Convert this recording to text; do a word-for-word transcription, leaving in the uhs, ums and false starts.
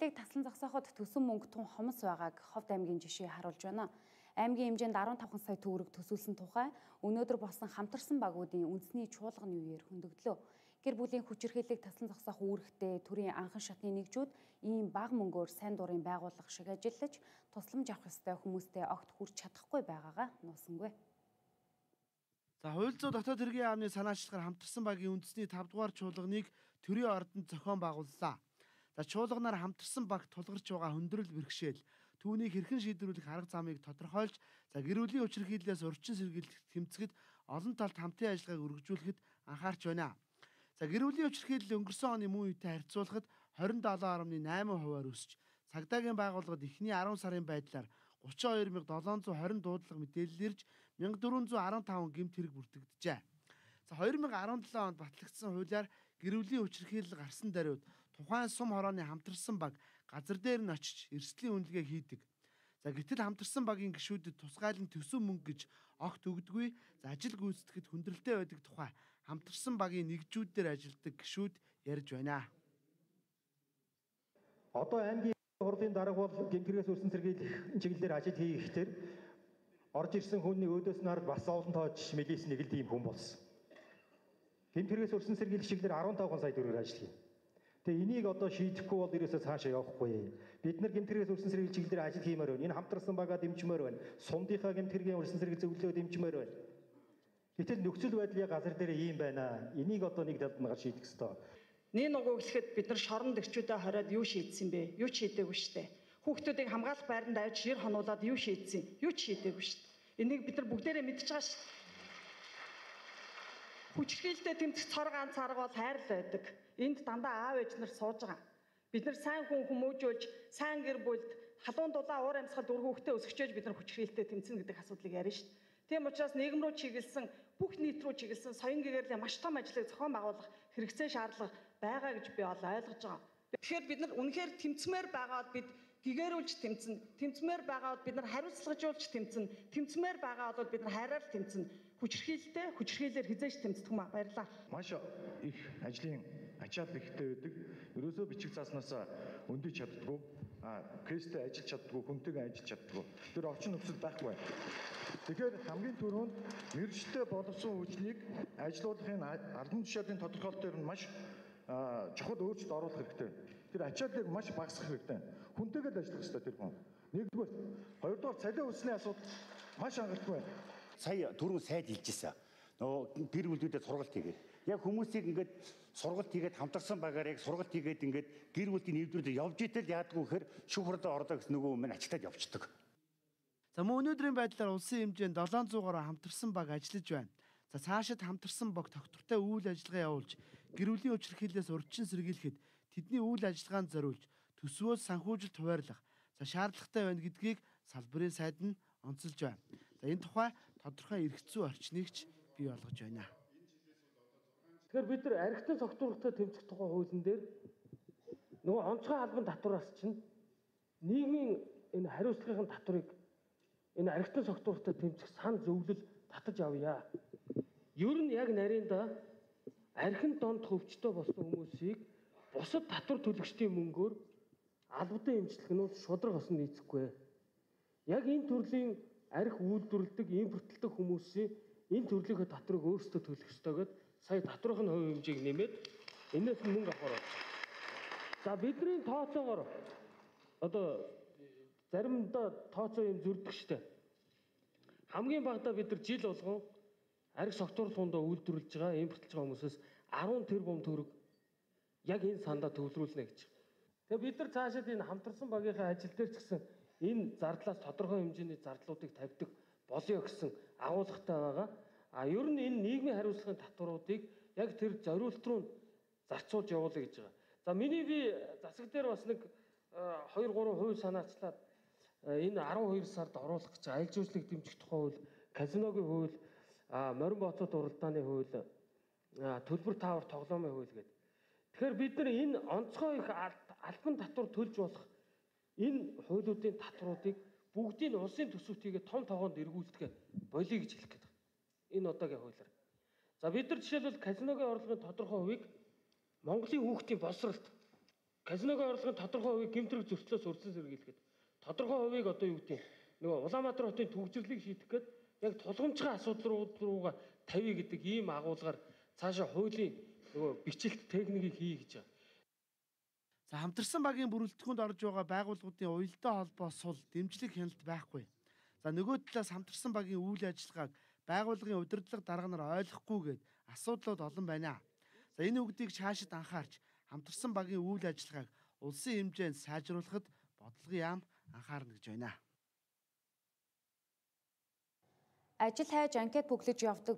Хүчирхийллийг таслан зогсооход төсөн мөнгө тун хомс байгааг Ховд аймгийн жишээ харуулж байна. Аймгийн хэмжээнд арван тавхан сая төгрөг төсөөлсөн тухай өнөөдөр болсон хамтарсан багуудын үндэсний чуулганы үеэр хөндөгдлөө. Гэр бүлийн хүчирхийллийг таслан зогсоох үүрэгтэй төрийн анхан шатны нэгжүүд ийм бага мөнгөөр сайн дурын байгууллага шиг ажиллаж тусламж авах ёстой хүмүүстэй огт хүрч чадахгүй байгаагаа нуусангүй. За хууль зүйн дотоод хэргийн яамны санаачлагаар хамтарсан багийн үндэсний тав дугаар чуулганыг төрийн ордонд зохион байгууллаа. За чуулганаар хамтарсан баг тулгарч байгаа хөндрөл бэрхшээл түүнийг хэрхэн шийдвэрлэх арга замыг тодорхойлж, за гэр бүлийн хүчирхийллээс урьдчилан сэргийлэх тэмцэхэд олон талд хамтын ажиллагааг үргэлжлүүлэхэд анхаарч байна. За гэр бүлийн хүчирхийлэл өнгөрсөн оны мөн үетэй харьцуулахад хорин долоо гаруй найман хувиар өсч, цагдаагийн байгууллагад эхний арван сарын байдлаар гучин хоёр мянга долоон зуун хорин дуудлага мэдээлэл ирж мянга дөрвөн зуун арван таван гэмт хэрэг бүртгэгджээ. За хоёр мянга арван долоо онд батлагдсан хуулиар гэр бүлийн хүчирхийлэл гарсан даруйд тухайн сум хорооны хамтарсан баг газар дээр нь очиж эрсдлийн үнэлгээ хийдэг. За гэтэл хамтарсан багийн гишүүдэд тусгайлан төсөн мөнгө гэж огт өгдөггүй. За ажил гүйцэтгэхэд хүндрэлтэй байдаг тухай хамтарсан багийн нэгжүүдээр ажилладаг гишүүд ярьж байна. Одоо аймгийн хурлын дарга бол гэмтэргээс өрсөн сэргийлэх чиглэлээр ажил хийхдээ орж ирсэн хүний өөдөөс нь харж бас олон тоож милис нэгэлд ийм хүн болсон. Гэмтэргээс өрсөн сэргийлэх чиглэлээр арван таван сая төгрөөр ажил хийнэ. Тэгээ энийг одоо шийдэхгүй бол ерөөсөө цаашаа явахгүй. Бид нар гэмтэргээс өрсөн сэргийлэх чиглэлээр ажил хиймээр байна. Энэ хамтарсан багаа дэмжмээр байна. Сумдынхаа гэмтэргийн өрсөн сэргийлэх зөвлөлөө дэмжмээр байна. Гэтэл нөхцөл байдлын газар дээр ийм байна. Энийг одоо нэг талд нь гар шийдэх ёстой. Нэг нугуу гэхэд бид нар шоронд өчүүдэд хараад юу шийдсэн бэ? Юу ч шийдээгүй штэ. Хүүхдүүдийг хамгаалах байранд авч шир хонуулаад юу шийдсэн? Юу ч шийдээгүй штэ. Энийг бид нар бүгдээрээ мэдчихэж байгаа штэ. Хүчирхийлэлтэй тэмцэх цор ганц арга бол хайр л байдаг. Энд дандаа аав ээж нар сууж байгаа. Бид нар сайн хүн хүмүүжүүлж, сайн гэр бүлд халуун дулаан уур амьсгал дүр хүүхдээ өсгөж бид нар хүчирхийлэлтэй тэмцэнэ гэдэг асуудлыг ярьна штэ. Тийм учраас нийгэм рүү чиглэсэн, бүх нийт рүү чиглэсэн соён гэгэрлийн маш том ажлыг зохион байгуулах хэрэгцээ шаардлага байгаа гэж би ол ойлгож байгаа. Тэгэхээр бид нар үнэхээр тэмцмээр байгаад бид гэгэрүүлж тэмцэн, тэмцмээр байгаад бид нар хариуцлагажуулж тэмцэн, тэмцмээр байгаад бол бид нар хайраар тэмцэн, хүчирхийлэлтэй хүчирхийлэлээр хизээж тэмцдэг юм а. Баярлалаа. Маш их ажлын ачаал ихтэй байдаг. Ерөөсөө бичиг цааснаас өндөж чаддгүй, а кэстэй ажиллаж чаддгүй, хүнтэйгээ ажиллаж чаддгүй. Тэр орчин нөхцөл байхгүй. Тэгэхээр хамгийн түрүүнд мэргэжтэй боловсон хүчнийг ажилуулахын албан тушаалын тодорхойлолт дээр нь маш чухал өөрчлөлт оруулах хэрэгтэй. Тэр ачааллыг маш багасгах хэрэгтэй. Хүнтэйгээ ажиллах хэрэгтэй тэр хүн. Нэгдүгээр, хоёрдугаар цалин өссөний асуудал маш хангалттай байна. Сая түрүү сайд хэлжсэн. Нөгөө гэр бүлүүдэд сургалт хийгээд яг хүмүүсийг ингээд сургалт хийгээд хамтарсан багаар яг сургалт хийгээд ингээд гэр бүлийн нэвтрүүлэг явж итэл яадгүй гэхээр шүүх хурлаа орлоо гэсэн нөгөө өмнө ачтаад явчихдаг. За мөн өнөөдрийн байдлаар улсын хэмжээнд долоон зуун гаруй хамтарсан баг ажиллаж байна. За цаашид хамтарсан баг тогтвортой үйл ажиллагаа явуулж гэр бүлийн хүчирхийллээс урьдчилан сэргийлэхэд тэдний үйл ажиллагаанд зориулж төсвөөс санхүүжилт хуваарлах за шаардлагатай байна гэдгийг салбарын сайд нь онцолж байна. За энэ тухай тодорхой эрх зүй орчныг ч бий болгож байна. Тэгэхээр бид нар архитектурын согтуулагтай тэмцэх тухай хуулийн дээр нөгөө онцгой албан татвараас чинь нийгмийн энэ хариуцлагын татварыг энэ архитектурын согтуулагтай тэмцэх сан зөвлөл татаж авъя. Ер нь яг нарийнда архин донд хөвчтөө болсон хүмүүсийг бусад татвар төлөгчдийн мөнгөөр албадан эмчилгээнүүд шудраг осон нийцэхгүй. Яг энэ төрлийн арх үйлдвэрлэдэг, импортлдог хүмүүсийн энэ төрлийнхөө татварыг өөрсдөө төлөх ёстойгод сая татварын хувь хэмжээг нэмээд энэс мөнгө авахар байна. За бидний тооцоогоор одоо заримдаа тооцоо юм зөрдөг штэ. Хамгийн багадаа бид нар жил болгон арх согтуурлуундаа үйлдвэрлэж байгаа, импортлж байгаа хүмүүсээс арван тэрбум төгрөг яг энэ сандаа төвлөрүүлнэ гэж. Тэгээ бид нар цаашаад энэ хамтарсан багийнхаа ажил дээр ч гэсэн энэ зардлаас тодорхой хэмжээний зардлуудыг тавьдаг болёо гэсэн агуулгатай байгаа. А ер нь энэ нийгмийн хариуцлагын татваруудыг яг тэр зориулт руу зарцуулж явуулъя гэж байгаа. За миний би засаг дээр бас нэг хоёр гурван хувь санаачлаад энэ арван хоёр сард оруулах гэж аялал жуулчлалыг дэмжих тухай хууль, казиногийн хууль, морин боцоод уралдааны хууль, төлбөр таавар тоглоомын хууль гэдэг. Тэгэхээр бид нар энэ онцгой их албан татвар төлж болох энэ хуулиудын татваруудыг бүгдийг улсын төсөвтийгээ том тоогоонд эргүүлдэг болиё гэж хэлэх гээд байна. Энэ одоогийн хуулиар. За бид нар жишээлбэл казиногийн орлогын тодорхой хувийг Монголын хүүхдийн боловсролт казиногоо орлогын тодорхой хувийг гэмтрэг зөрчлөөс урьдчилан сэргийлэхэд тодорхой хувийг одоо юу гэдэг нөгөө Улаанбаатар хотын төвөгжрлийг шийдэх гээд яг тулгамчгийн асуудал руугаа тавья гэдэг ийм агуулгаар цаашаа хуулийн нөгөө бичлэлт техникийг хий гэж байгаа. За хамтарсан багийн бүрэлдэхүүнд орж байгаа байгууллагуудын уялдаа холбоо сул дэмжлэг хяналт байхгүй. За нөгөө талаас хамтарсан багийн үйл ажиллагааг байгууллагын удирдлага дарга нар ойлгохгүйгээд асуудлууд олон байна. За энэ үгдийг цаашид анхаарч хамтарсан багийн үйл ажиллагааг улсын хэмжээнд сайжруулахад бодлогын яам анхаарна гэж байна. Ажил хайж анкет бүглэж явдаг